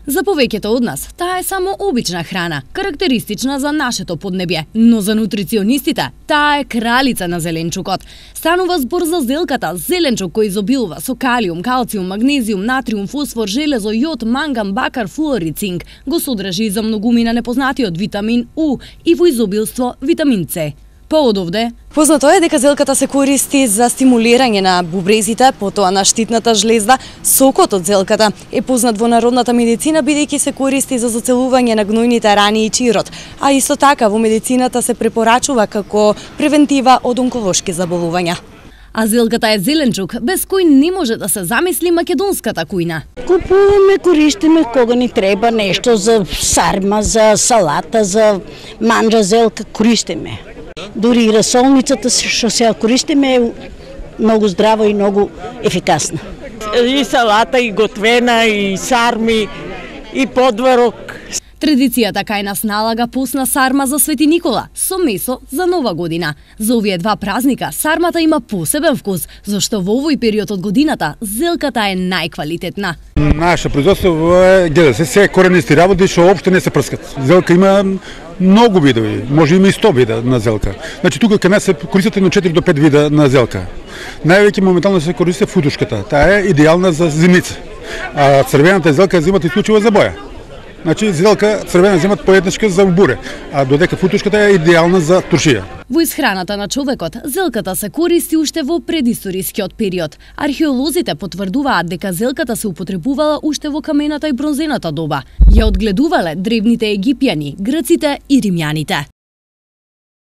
За повеќето од нас, таа е само обична храна, карактеристична за нашето поднебје, но за нутриционистите, таа е кралица на зеленчукот. Станува збор за зелката, зеленчук кој изобилува со калиум, калциум, магнезиум, натриум, фосфор, железо, јод, манган, бакар, флуор и цинк. Го содржи и за многумина непознатиот витамин У и во изобилство витамин С. Поодовде, познато е дека зелката се користи за стимулирање на бубрезите, потоа на штитната жлезда. Сокот од зелката е познат во народната медицина бидејќи се користи за зацелување на гнојните рани и чирот, а исто така во медицината се препорачува како превентива од онколошки заболувања. А зелката е зеленчук без кој не може да се замисли македонската кујна. Купуваме, користиме кога ни треба нешто за сарма, за салата, за манџа зелка, користиме. Дури и расолницата што се користиме е многу здраво и многу ефикасна. И салата, и готвена, и сарми, и подварок. Традицијата кај нас налага постна сарма за Свети Никола со месо за Нова година. За овие два празника сармата има посебен вкус, зашто во овој период од годината зелката е најквалитетна. Наше производство е, гледа се коренисти работи што општо не се прскат. Зелка има многу видови, може има и 100 вида на зелка. Значи тука кај нас се користат едно 4 до 5 вида на зелка. Највеќе моментално се користи футушката. Таа е идеална за зимница. А црвената зелка земат исклучиво за боја. Значи зелка црвена земат поеднашка за буре, а додека футушката е идеална за туршија. Во исхраната на човекот, зелката се користи уште во предисторискиот период. Археолозите потврдуваат дека зелката се употребувала уште во камената и бронзената доба. Ја одгледувале древните египјани, грците и римјаните.